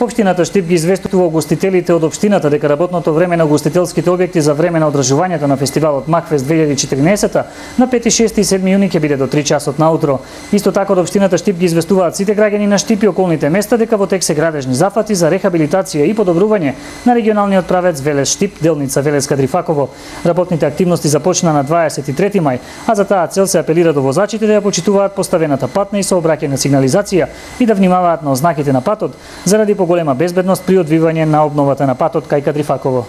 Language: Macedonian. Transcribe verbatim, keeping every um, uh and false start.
Општината Штип ги известува угостителите од општината дека работното време на угостителските објекти за време на одржувањето на фестивалот Макфест две илјади и четирнаесетта на пети, шести и седми јуни ќе биде до три часот наутро. Исто така од општината Штип ги известуваат сите граѓани на Штип и околните места дека во тек се градежни зафати за рехабилитација и подобрување на регионалниот правец Велес Штип, делница Велес Кадрифаково. Работните активности започна на дваесет и трети мај, а за таа цел се апелира до возачите да ја почитуваат поставената патна и сообраќајна сигнализација и да внимаваат на ознаките на патот заради поголема безбедност при одвивање на обновата на патот кај Кадрифаково.